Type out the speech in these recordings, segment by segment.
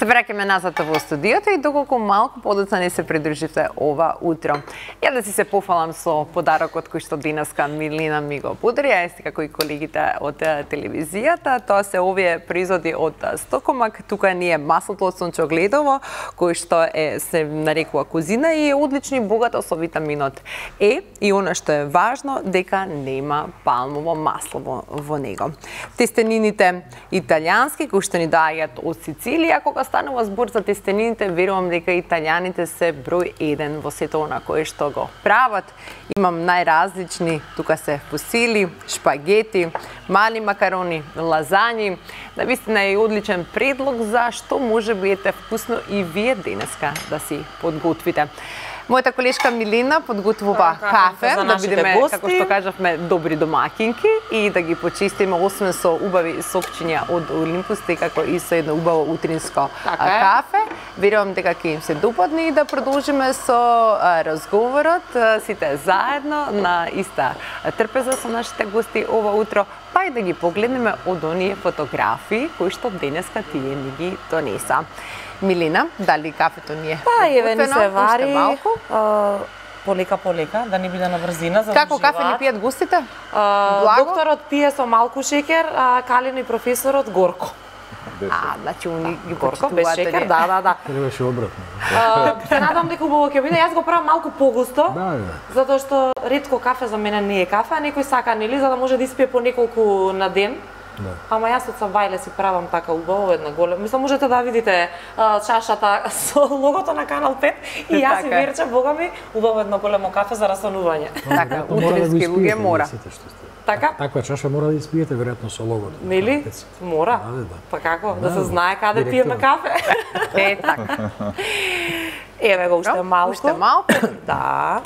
Се враќаме назад во студиото и доколку малку подоцна не се придруживте ова утро. Ја да си се пофалам со подарокот кој што денеска Милина ми го подари, а исти како и колегите од телевизијата. Тоа се овие производи од Стокомак. Тука ни е маслото од сончогледово, кој што се нарекува козина и е одлично и богато со витаминот Е, и она што е важно дека нема палмово масло во него. Тестенините италијански кои што ни доаѓаат од Сицилија, кога станува збор за тестенините, верувам дека италијаните се број 1 во сето она кое што го прават. Имам најразлични, тука се фусили, шпагети, мали макарони, лазањи. Навистина е одличен предлог за што може би ете вкусно и вие денеска да си подготвите. Мојата колешка Милина подготвува кафе, да бидеме, како што кажавме, добри домакинки и да ги почистиме, освен со убави сокчиња од Олимпус, како и со едно убаво утринско кафе. Верувам дека ќе им се допадне и да продолжиме со разговорот, сите заедно на иста трпеза со нашите гости ова утро, па и да ги погледнеме од оние фотографии кои што денеска тие ни ги донеса. Милина, дали кафето ни е еве ни се вари, полека, да не биде на брзина. Како кафе ни пијат гостите? Докторот пие со малку шекер, а Калин и професорот горко. Значи уни ги горко без шекер, да. Требаше обратно. Се надам дека убаво ќе биде. Јас го правам малку погусто, затоа што ретко кафе за мене не е кафе, а некој сака нели за да може да испие по неколку на ден. Ама јас од Савајле си правам така убаво една голема. Мислам можете да видите чашата со логото на Канал 5 и јас и Верче, бога ми, убаво едно големо кафе за расонување. Така, утрински луѓе мора. Така? Таква чаша мора да испиете веројатно со логото. Нели? Мора. Па како? Да се знае каде пиеме кафе. Така. Еве го уште малку. Уште малку? Да.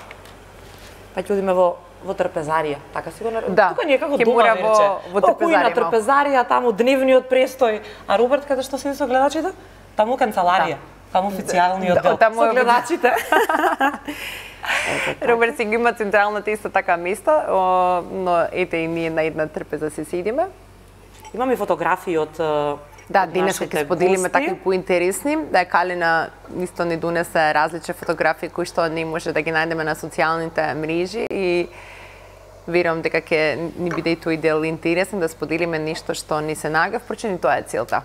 Па ќе одиме во трпезарија, така си го нарекувам. Да, тука некако дома Верче. Во трпезарија. На трпезарија, таму дневниот престој. А Роберт каде што седи со гледачите? Таму канцеларија. Таму официјалниот дел со гледачите. Роберт си ги има централната исто така место, но ете и ние на една трпеза се седиме. Имаме фотографии од да, денеска ќе споделиме такви поинтересни. Да, Калина исто ни донесе различни фотографии кои што не може да ги најдеме на социјалните мрежи и верувам дека ќе ни биде и тој дел интересен да споделиме нешто што ни се нага, впрочем тоа е целта.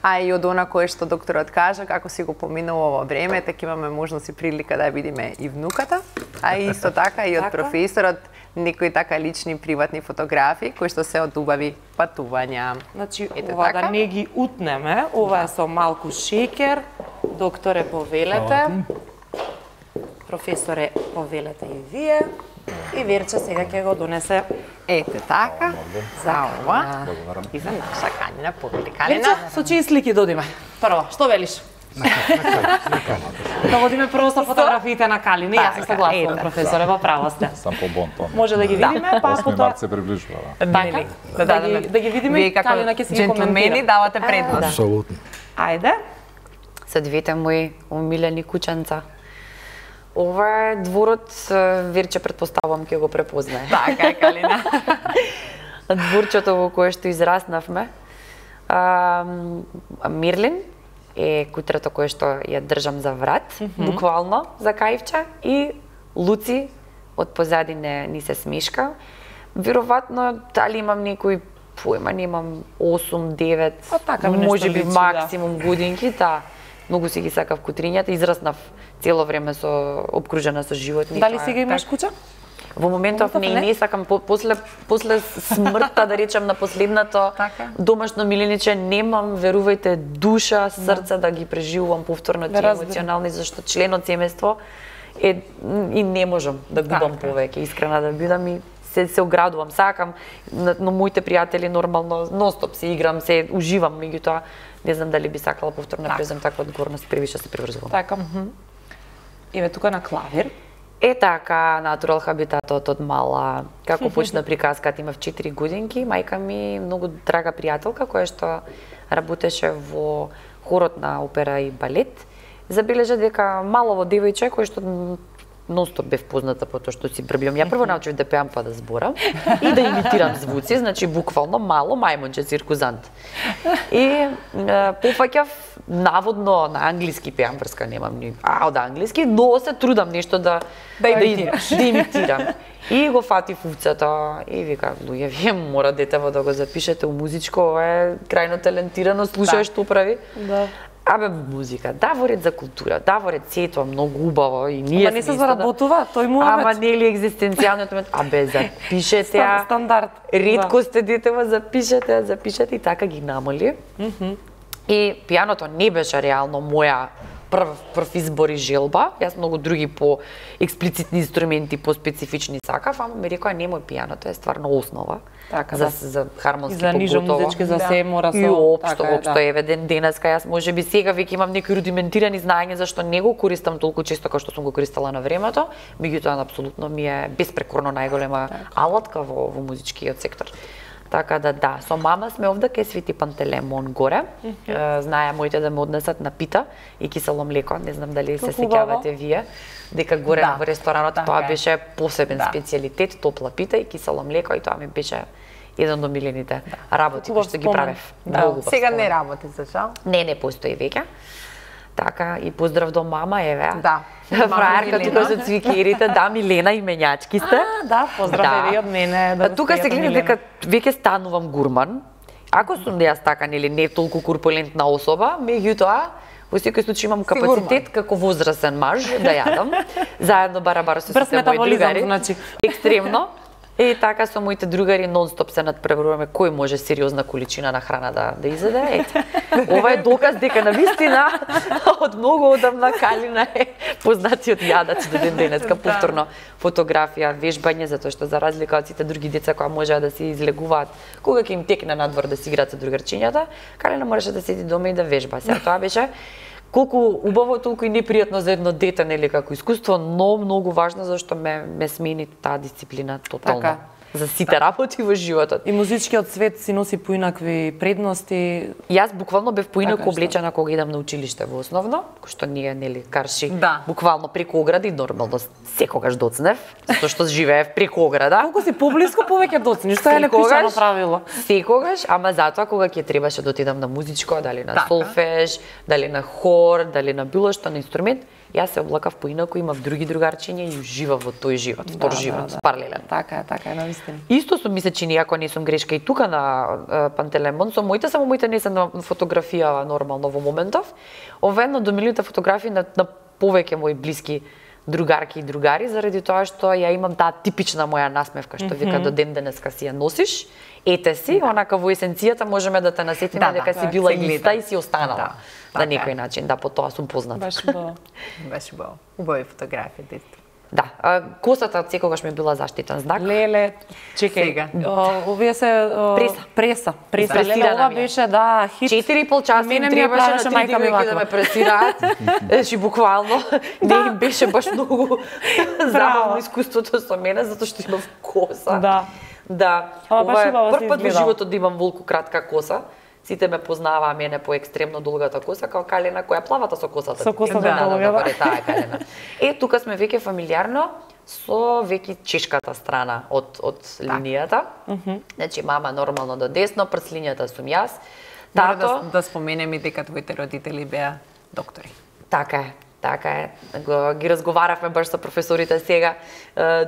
А и од она кое што докторот кажа, како си го поминува во време, така имаме можност и прилика да видиме и внуката, а исто така и од професорот некои така лични приватни фотографии кои што се од убави патувања. Значи, ова да не ги утнеме, ова е со малку шекер, докторе повелете, професоре повелете и вие, и Верче сега ќе го донесе. Ете така, за ова и за наша Калина повели. Верче, со чии слики додиме? Прво, што велиш? Да водиме прво со фотографиите на Калина. Јас се согласувам, професоре, во право сте. Сам по бонтон. Може да ги видиме, па 8 март се приближува. Така, да ги видиме и Калина ќе си ги коментира. Джентлмени давате предност. Апсолутно. Ајде. Со двете мои умилени кученца. Ова е дворот, Верче предпоставувам ќе го препознае. Така е, Калина. Дворчето во кое што израснавме. Мирлин е кутрето кое што ја држам за врат, буквално за кајвче, и Луци од позадине ни се смешка. Веројатно дали имам некој појма, немам 8-9, можеби максимум годинки, да. Многу си ги сакав кутрињата, израснав цело време со обкружена со животни. Дали сега имаш куќа? Во моментов не сакам, после смртта, да речем, на последното домашно милиниче, немам, верувајте, душа, срце да ги преживувам повторно тие емоционални, зашто член од семејство е и не можам да губам повеќе, искрена да бидам и се оградувам, сакам, но моите пријатели нормално ностоп се играм, се уживам, меѓутоа не знам дали би сакала повторно да презем таква одговорност, превише се приврзувам. Така. Еве тука на клавир. Е така, Натурал Хабитатот од мала, како почна приказката, имав 4 годинки, мајка ми многу драга пријателка која што работеше во хорот на опера и балет, забележа дека малово девојче кој што нонстоп бев позната по тоа што си брблям. Ја прво научив да пеам па да зборам и да имитирам звуци, значи буквално мало мајмунче циркузант. И пофаќав наводно на англиски пеам, врска немам ни од англиски, но се трудам нешто да имитирам. И го фати фуцата и вика, луѓе, вие мора детево да го запишете у музичко, ова е крајно талентирано, слушај што прави. Да. Абе, музика, Даворет за култура, Даворет сето многу убаво и ние Ама не се заработува, тој му Ама нели екзистенцијалниот момент, абе, запишете ја. Стандард. Ретко сте детево, запишете и така ги намали. И пијаното не беше реално моја прв избор и желба. Јас многу други по експлицитни инструменти, по специфични сакав, ама ми рекоа немој пијаното е стварно основа. Така, за хармонски за нижо музички, за се мора со. И општо еве денеска јас можеби сега веќе имам некои рудиментирани знаења зашто не го користам толку често како што сум го користела на времето, меѓутоа апсолутно ми е беспрекорно најголема алатка во музичкиот сектор. Така да, со мама сме овде кај Свети Пантелеймон горе. Знае моите да ме однесат на пита и кисело млеко, не знам дали се сеќавате вие, дека горе во ресторанот тоа беше посебен специјалитет, топла пита и кисело млеко, и тоа ми беше еден од омилените работи кои што ги правев. Сега не работи, за жал? Не постои веќе. Така, и поздрав до мама, еве. Да. Фраерка тука со цвикерите, да, Милена и менјачки сте. Да, поздрав и од мене. Тука се гледа дека веќе станувам гурман. Ако сум да јас така, нели, не толку корпулентна особа, меѓутоа, во секој случај имам капацитет како возрасен маж да јадам. Заедно барабар со сите мои другари. Значи. Екстремно. И така со моите другари нонстоп се надпреваруваме кој може сериозна количина на храна да изеде. Ете. Ова е доказ дека навистина од многу одамна Калина е познатиот јадач до ден денеска. Повторно фотографија, вежбање, затоа што за разлика од сите други деца кои можеа да се излегуваат кога ќе им текне надвор да си играат со другарчињата, Калина можеше да седи дома и да вежба. Сега тоа беше колку убаво, толку и непријатно за едно дете, нели, како искуство, но многу важно зашто ме смени таа дисциплина тотално. Така. За сите работи во животот. И музичкиот свет си носи поинакви предности. Јас буквално бев поинаку облечена кога идам на училиште во основно, кој што ние, нели, карши, буквално преку огради, нормално секогаш доцнев, затоа што живеев преку ограда. Колку си поблиску, повеќе доцниш, тоа е непишано правило. Секогаш, ама затоа кога ќе требаше да отидам на музичко, дали на солфеж, дали на хор, дали на било што на инструмент, јас се облакав поинаку, имав други другарчиња и уживав во тој живот, втор живот, паралелен. Така е, навистина. Исто сум ми се чини, ако не сум грешка и тука на Пантелеймон, само моите не се на фотографија нормално во моментов. Ова едно до милионите фотографии на повеќе мои блиски другарки и другари, заради тоа што ја имам таа типична моја насмевка, што вика до ден денеска си ја носиш, ете си, онака во есенцијата можеме да те насетиме дека си била иста и си останала. На некој начин, да, по тоа сум позната. Беше убаво. Беше убаво. Убави фотографии, дете. Да, косата секогаш ми била заштитен знак. Леле, чекај. Овие се преса. Леле, ова беше хит. 4,5 часа им требаше на 3 девојки да ме пресираат. Значи буквално не им беше баш многу забавно искуството со мене затоа што имав коса. Да. Ова е прв пат во животот да имам волку кратка коса. Сите ме познаваа мене по екстремно долгата коса, као Калина која плавата со косата. Со косата долга. Таа е Калина. Тука сме веќе фамилиарно со веќе чешката страна од линијата. Значи мама нормално до десно, прслињата сум јас. Тато да споменеме дека твоите родители беа доктори. Така е. Ги разговаравме баш со професорите сега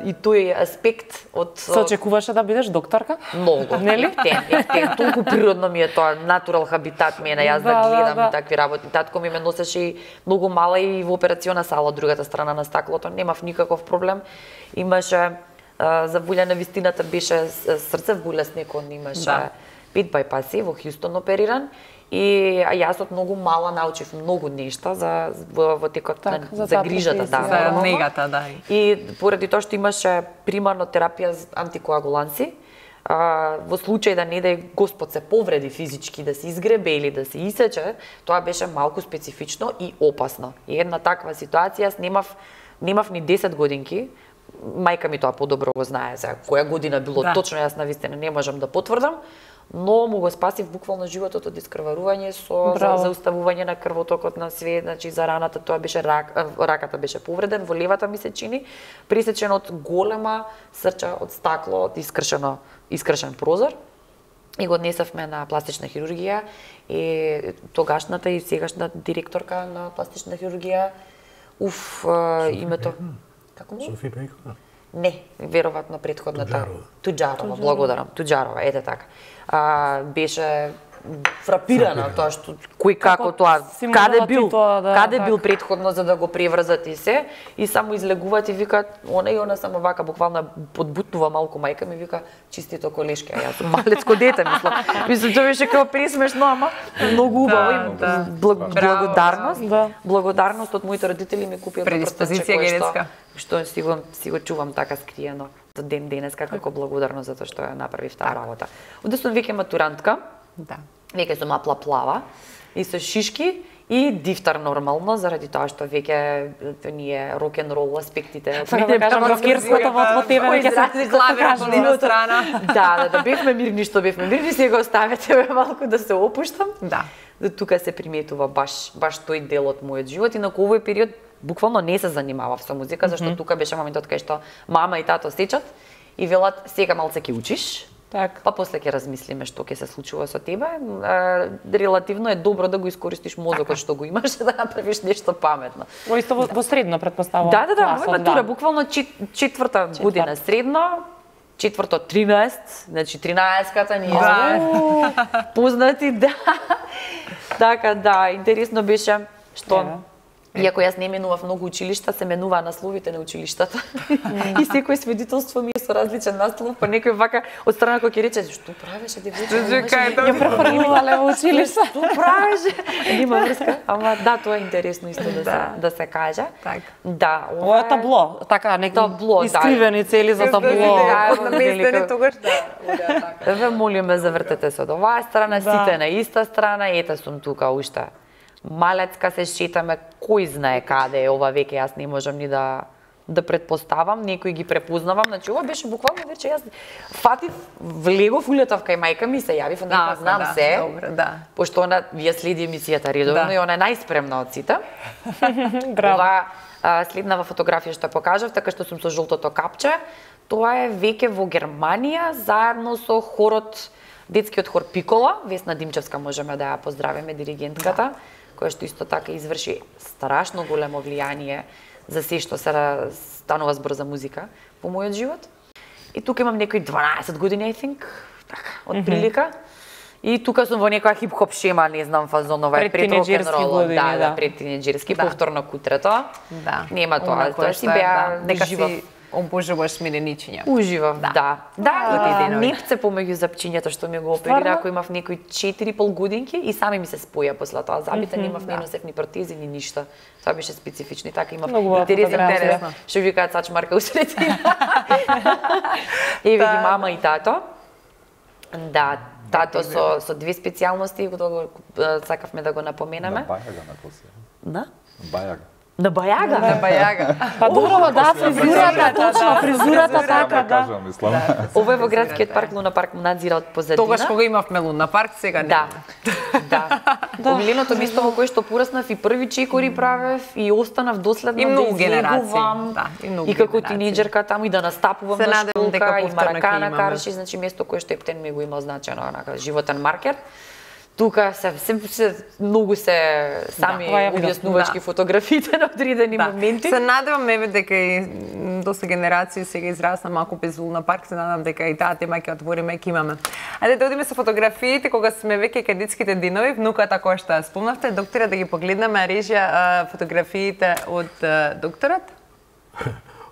и тој аспект од... Се очекуваше да бидеш докторка? Многу. Нели? Ефтен. Толку природно ми е тоа, натурал хабитат ми е на јас да гледам и такви работи. Татко ми ме носеше и многу мала и во операциона сала од другата страна на стаклото. Немав никаков проблем. Имаше заболена вистината, беше срцев болест некон, имаше 5 байпаси во Хјустон опериран. И јас од многу мала научив многу нешта во текот за грижата, за негата, да. И поради тоа што имаше примарно терапија за антикоагуланси, во случај да не дај Господ се повреди физички, да се изгребе или да се исече, тоа беше малку специфично и опасно. И една таква ситуација, јас немав ни 10 годинки, мајка ми тоа подобро го знае, сега која година било точно, јас навистина не можам да потврдам, но му го спасив буквално животот од искрварување со зауставување на крвотокот на све, значи за раната тоа беше раката беше повреден, во левата ми се чини, пресечен од голема срча од стакло, од искршен прозор. И го однесавме на пластична хирургија и тогашната и сегашна директорка на пластична хирургија, името... Како му? Софи Пејкова? Не, веројатно претходната. Туџарова, благодарам. Туџарова, ете така. Беше фрапирана тоа што кој како тоа, каде бил претходно за да го преврзат и се, и само излегуваат и викаат, она само вака буквално подбутнува малку мајка ми, вика чистито колешки, а јас сум малецко дете, мислам тоа беше како пресмешно, ама многу убаво и благодарност од моите родители ми купија предиспозиција генетска, што си го чувам така скриено до ден денеска како благодарност за тоа што ја направив таа работа. Одеднаш сум веќе матурантка. Да. Веќе сум плава и со шишки и дифтар нормално, заради тоа што веќе ние рок-н-рол аспектите. Сакам да кажам рокерското во тебе веќе се клавира по лева страна. Да, бевме мирни што бевме мирни, сега оставете ме малку да се опуштам. Да. Тука се приметува баш тој дел од мојот живот, инаку овој период буквално не се занимавав со музика, зашто тука беше моментот кај што мама и тато сечат и велат сега малце ќе учиш. Так. Па после ќе размислиме што ќе се случува со тебе. Релативно е добро да го искористиш мозокот што го имаш да направиш нешто паметно. Во исто во средно претпоставувам. Да, моја матура буквално четврта година средно, четврто 13, значи 13-ката ние сме познати, да. Така да, интересно беше што иако јас не менував многу училишта, се менуваа насловите на училиштата. И секој свидетелство ми е со различен наслов, па некој вака од страна кој ќе рече што правеше девојче? Ја префрлувале во училиште. Што правеше? Нема врска, ама да, тоа е интересно исто да се каже. Да, ова е табло, така табло, искривени цели за табло. Наместени тогаш да. Ве молиме завртете се од оваа страна, сите на иста страна, ете сум тука уште. Малецка се шетаме, кој знае каде е ова веќе, јас не можам ни да предпоставам, некој ги препознавам, значи ова беше буквално вече јас фатив, влегов, улетав кај мајка ми, се јавив, дека знам се, пошто она вие следи емисијата редовно и она е најспремна од сите. Ова следнава фотографија што покажав, така што сум со жолтото капче, тоа е веќе во Германија, заедно со хорот, детскиот хор Пикола, Весна Димчевска можеме да ја поздравиме, диригентката, која што исто така изврши страшно големо влијание за се што се станува збор за музика во мојот живот. И тука имам некои 12 години, I think, така, од прилика. И тука сум во некоја хип-хоп шема, не знам, фазонова е пред рок-н-рол, пред тинеџерски, повторно кутрето. Да. Нема тоа си беа уживав. Обожуваш миреничиња. Уживав, да. Непце помеѓу запчињата што ми го оперира, ако имав некои 4,5 годинки и сами ми се споја после тоа. Забите немав ни носев ни протези ни ништо. Тоа беше специфично и така имав интересно. Што викаат сачмарка усредина. Еве ги мама и тато. Да, тато со две специјалности, сакавме да го напоменеме. На Бајага на косе. На? Бајага. На Бајага? На Бајага. Па добро, да, фризурата, точно, фризурата така, да. Ова е во градскиот парк, Луна парк му надзира од позадина. Тогаш кога имавме Луна парк, сега не. Да. Омиленото место во кое што пораснав и први чекори правев и останав доследно да излегувам. И како тинеџерка таму и да настапувам на школка и маракана карши, значи место кое што Ептен ми го имал значено, онака животен маркер. Тука се многу се сами објаснувачки фотографите на одредени моменти. Се надевам еве дека и доста генерации сега израсна малку без Луна парк, се надевам дека и таа тема ќе отвориме, ќе имаме. Ајде да одиме со фотографиите кога сме веќе кај детските денови, внуката која што спомнавте, доктора, да ги погледнеме режија фотографиите од докторот.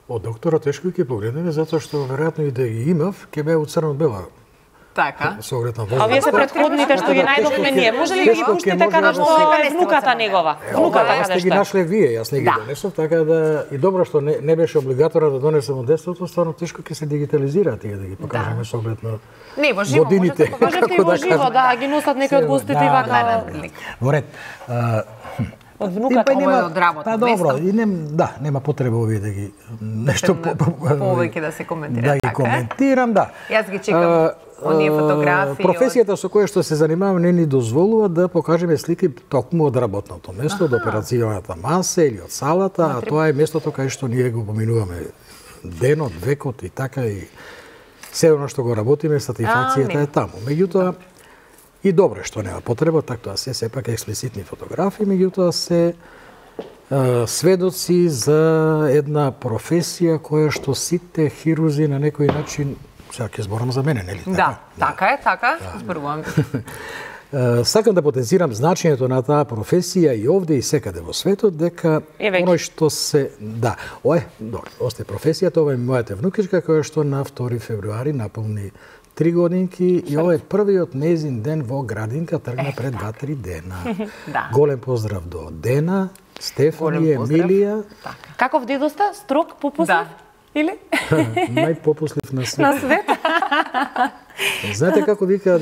Од докторот тешко ќе погледнеме затоа што веројатно и да ги имав, ќе беа од црно-бела. Така. А вие се претходните што ги најдовме ние, може ли да ги пуштите каде што е внуката негова? Внуката каде што? Јас ги нашле вие, јас не ги донесов, така да и добро што не беше облигаторно да донесам од детството, стварно тешко ќе се дигитализира тие да ги покажеме со оглед на не, во живо, годините. Можете и во живо, да, ги носат некои од гостите и вака. Во ред. Од внуката од работа. Па добро, и нема потреба овие да ги нешто повеќе да се коментира. Да ги коментирам, да. Јас ги чекам. оние фотографии. Професијата со која што се занимаваме не ни дозволува да покажеме слики токму од работното место, од операцијната маса или од салата, а тоа е местото кај што ние го поминуваме денот, векот и така и се оно што го работиме, сатисфакцијата е таму. Меѓутоа, и добре што нема потреба, така тоа се сепак експлицитни фотографии, меѓутоа се сведоци за една професија која што сите хирурзи на некој начин, сега ќе зборам за мене, нели така? Да, така, зборувам. Сакам да потенцирам значењето на таа професија и овде и секаде во светот, дека оној што се... Да, добро, осте професијата, ова е мојата внукичка, која што на 2 февруари наполни 3 годинки и ова е првиот нејзин ден во градинка, тргна пред 2-3 дена. Голем поздрав до Дена, Стефани, Емилија. Каков дедо сте? Строг, попуслив? Или? Најпопуслив на свет. На свет? Знаете како викаат,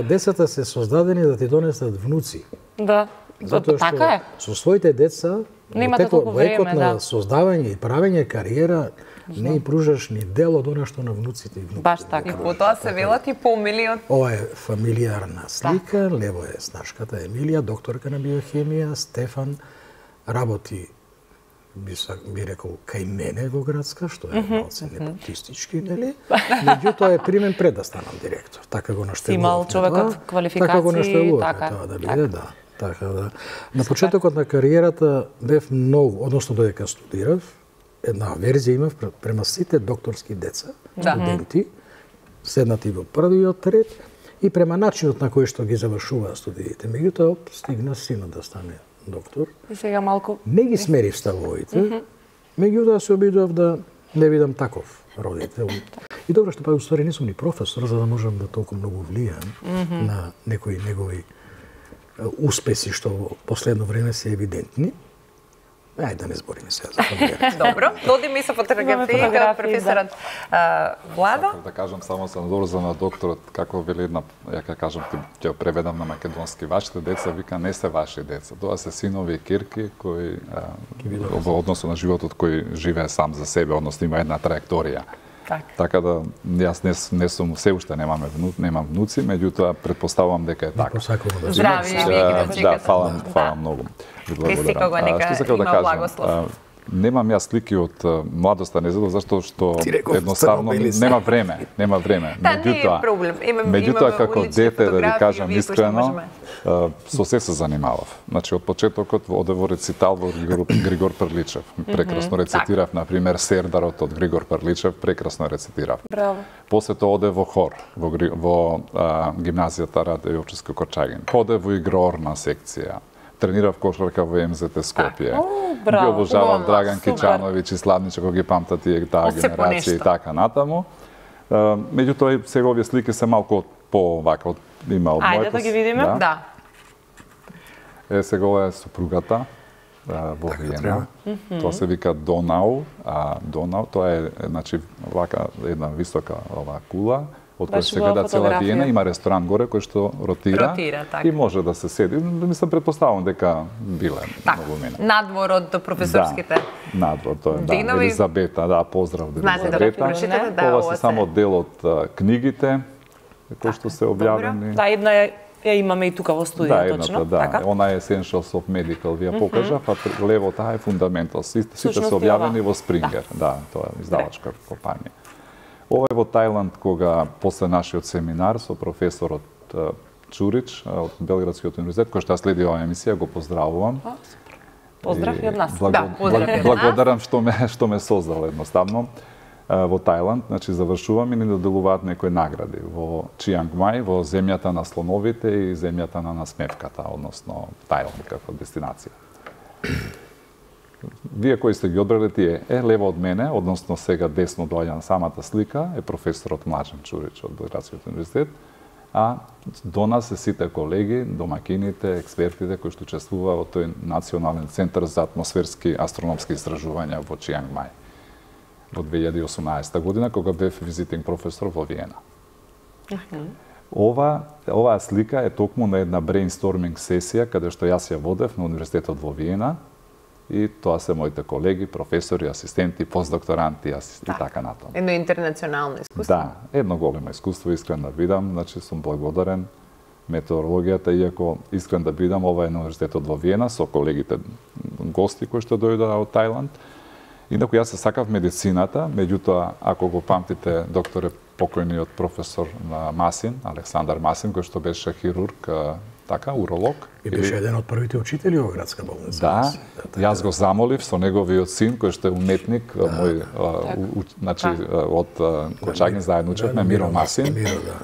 децата се создадени да ти донесат внуци. Да. Затоа што со своите деца во екот на создавање и правење кариера не им пружаш ни дел од она што на внуците и внуците. Баш така. И потоа се велат и помилиот. Ова е фамилиарна слика, лево е снашката Емилија, докторка на биохемија, Стефан работи би рекол кај мене во градска, што е малце непотистички, нели? Меѓутоа е примен пред да станам директор. Така го наштелував. Имал човекот квалификации, така го наштелував тоа да биде, да. Така да. На почетокот на кариерата бев многу, односно додека студирав, една верзија имав према сите докторски деца, студенти, седнати во првиот ред и према начинот на кој што ги завршуваа студиите. Меѓутоа стигна синот да стане доктор. И сега малку не ги смерив ставовите, меѓутоа се обидував да не видам таков родител. И добро што па уствари не сум ни професор, за да можам да толку многу влијам на некои негови успеси што во последно време се евидентни. Ајде да не збориме сега за фамилија. Добро, додиме и со фотографиите од професорот Владо. Да кажам само се надоврзам на докторот, како вели една, ја ќе кажам, ќе преведам на македонски, вашите деца вика не се ваши деца, тоа се синови и кирки кои во односу на животот кој живее сам за себе, односно има една траекторија. Така да јас не сум, се уште немам внуци, меѓутоа претпоставувам дека е така. Здрави, да, фала многу. Што сакав да кажам? Немам јас слики од младоста незадов зашто што едноставно нема време. Меѓутоа како дете да ви кажам искрено, со се занимавав. Значи од почетокот оде во рецитал во Григор Прличев. Прекрасно рецитирав, на пример, Сердарот од Григор Прличев, прекрасно рецитирав. Браво. После тоа оде во хор во гимназијата Раде Јовчевски Корчагин. Оде во игрорна секција. Тренирав кошарка во МЗТ Скопје. Ги обожавам Драган Кичановиќ и Славниче, кога ги памтат и таа генерација и така натаму. Меѓутоа сега овие слики се малку по вака има од мојот. Ајде да ги видиме. Да. Сега ова е супругата во Виена. Тоа се вика Донау, Донау тоа е значи вака една висока ова кула. Од која се гледа цела Виена, има ресторан горе кој што ротира и може да се седи. Мислам, предпоставувам дека биле многу мене. Надвор од професорските надвор, тоа е, да, Елизабета, да, поздрав до Елизабета. Ова се само дел од книгите кои што се објавени. Да, една ја имаме и тука во студио, точно. Да, она е Essentials of Medical, ви ја покажа, па лево таа е Fundamentals. Сите се објавени во Springer, да, тоа е издавачка компанија. Ова е во Тајланд, кога после нашиот семинар со професорот Чурич од Белградскиот универзитет, кој што ја следи оваа емисија, го поздравувам. Поздрав и од нас. Благодарам што ме создал едноставно во Тајланд, значи завршувам и ни доделуваат некои награди во Чианг Мај, во земјата на слоновите и земјата на насмевката, односно Тајланд како дестинација. Вие кои сте ги одбрали тие, лево од мене, односно сега десно доаѓа на самата слика, е професорот Млаđan Чурич од Белградскиот универзитет, а до нас се сите колеги, домакините, експертите кои што учествуваа во тој Национален центар за атмосферски астрономски истражувања во Чианг Мај во 2018 година, кога бев визитинг професор во Виена. Оваа слика е токму на една брейнсторминг сесија, каде што јас ја водев на Универзитетот во Виена, и тоа се моите колеги, професори, асистенти, постдокторанти и така натаму. Едно интернационално искуство. Да, едно големо искуство, искрен да бидам, значи сум благодарен метеорологијата, иако искрен да бидам, ова е на универзитетот во Виена со колегите гости кои што дојдоа од Тајланд. Инаку јас се сакав медицината, меѓутоа ако го памтите докторе покојниот професор Масин, Александар Масин, кој што беше хирург, така, уролог. И беше еден од првите учители во градска болница. Да, јас го замолив со неговиот син, кој што е уметник, мој, значи, од Кочагин заедно учевме, Миро Масин,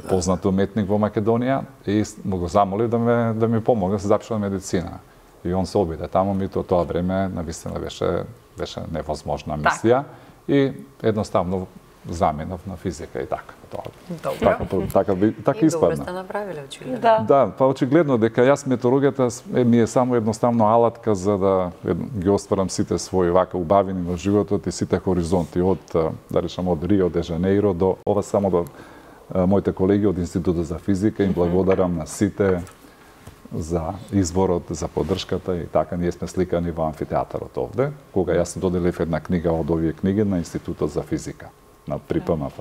познат уметник во Македонија, и му го замолив да ми помогне да се запишам медицина. И он се обиде таму, ми тоа време навистина беше невозможна мисија и едноставно заменав на физика и така. Така испадна. Добро сте направиле, очигледно. Да, па очигледно дека јас метеорологијата ми е само едноставно алатка за да ги остварам сите своји вака убавини во животот и сите хоризонти од, да речам, од Рио де Жанеиро до ова, само до моите колеги од Институтот за физика, им благодарам на сите за изборот, за поддршката и така ние сме сликани во амфитеатарот овде, кога јас доделив една книга од овие книги на Институтот за физика, на ПМФ.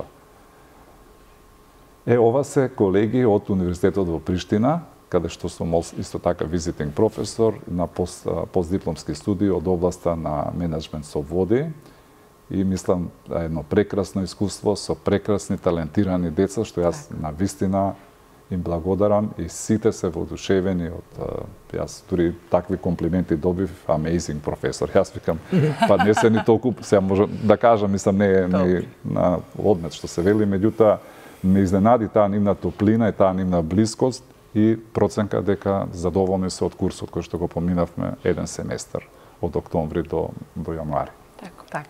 Ова се колеги од Универзитетот во Приштина, каде што сум исто така визитинг професор на постдипломски студии од областа на менеджмент со води и мислам едно прекрасно искуство со прекрасни талентирани деца што јас навистина им благодарам и сите се воодушевени од јас дури такви комплименти добив, amazing професор. Јас викам, па не се ни толку, сега може да кажам, мислам не е на одмет што се вели, меѓутоа ме изненади таа нивна топлина и таа нивна блискост и проценка дека задоволни се од курсот кој што го поминавме еден семестар од октомври до јануари. Така.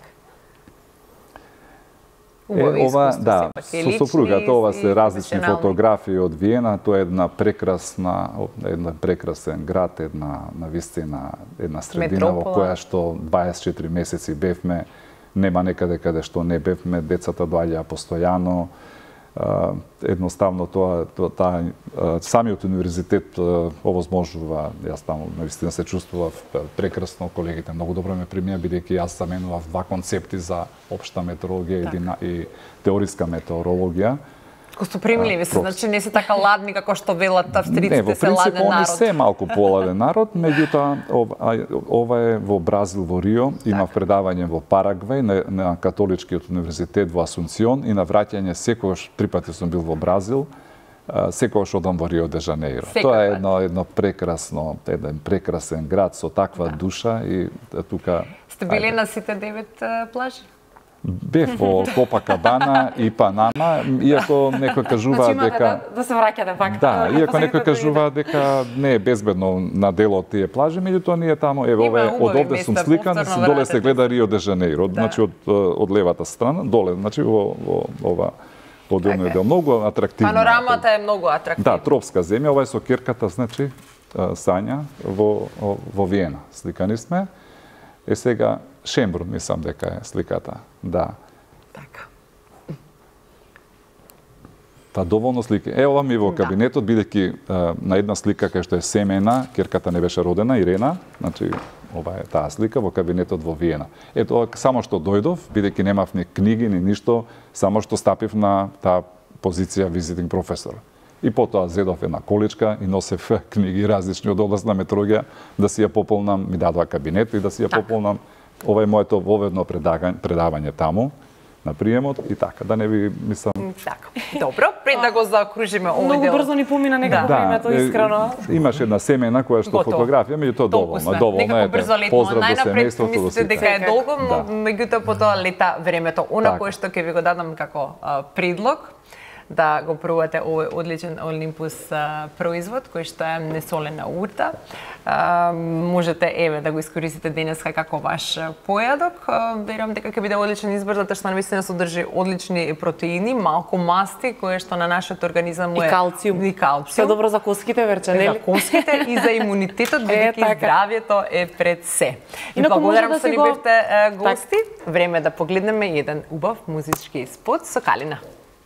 Ова, да, со сопругата, ова се различни фотографии од Виена, тоа е една прекрасен град, навистина една средина во која што 24 месеци бевме, нема некаде каде што не бевме, децата доаѓаа постојано. Едноставно тоа самиот универзитет овозможува, јас таму навистина се чувствував прекрасно, колегите многу добро ме примија бидејќи јас заменував два концепти за општа метеорологија и теориска метеорологија. Ко сте примливи се, значи не се така ладни како што велат австриците се ладен народ. Не, во принцип они се малку поладен народ, меѓутоа ова е во Бразил, во Рио, имав предавање во Парагвај на католичкиот универзитет во Асунцион и на враќање секогаш, 3 пати сум бил во Бразил, секогаш одам во Рио де Жанеиро. Тоа е еден прекрасен град со таква душа и тука... Сте били на сите 9 плажи? Бев во Копакабана и Панама, иако некој кажува дека... Да се враќате пак. Да, иако некој кажува дека не е безбедно на дел од тие плажи, меѓутоа ние таму, од овде сум сликан, доле се гледа Рио де Жанеиро, значи од левата страна, доле, значи во ова одделниот дел, многу атрактивно. Панорамата е многу атрактивна. Да, тропска земја, ова е со кирката, значи, Сања во Виена. Сликани сме. Сега Шембрун, мислам дека е сликата. Да. Така. Па доволно слики. Ова ми во кабинетот, бидејќи на една слика кај што е семена, керката не беше родена, Ирена, значи ова е таа слика во кабинетот во Виена. Ето, само што дојдов, бидејќи немав ни книги, ни ништо, само што стапив на таа позиција визитинг професор. И потоа зедов една количка и носев книги различни од област на метеорологија да си ја пополнам, ми дадоа кабинет и да си ја пополнам. Ова е моето воведно предавање таму на приемот и така, да не ви мислам... Така, добро, пред да го заокружиме овој дел. Многу брзо ни помина некако времето, искрено. Имаше една семена која што фотографија, меѓутоа доволно. Некако брзо летимо. Најнапред мислите дека е долго, меѓутоа потоа лета времето. Она кое што ќе ви го дадам како предлог, да го пробате овој одличен Олимпус производ кој што е несолена урта. Можете да го искористите денеска како ваш појадок. Верувам дека ќе биде одличен избор затоа што навистина содржи одлични протеини, малку масти кои што на нашиот организам е и калциум. Се добро за коските, верче, нели? За коските и за имунитетот, бидејќи здравјето е пред се. И благодарам што ни бевте гости. Време да погледнеме еден убав музички спот со Калина.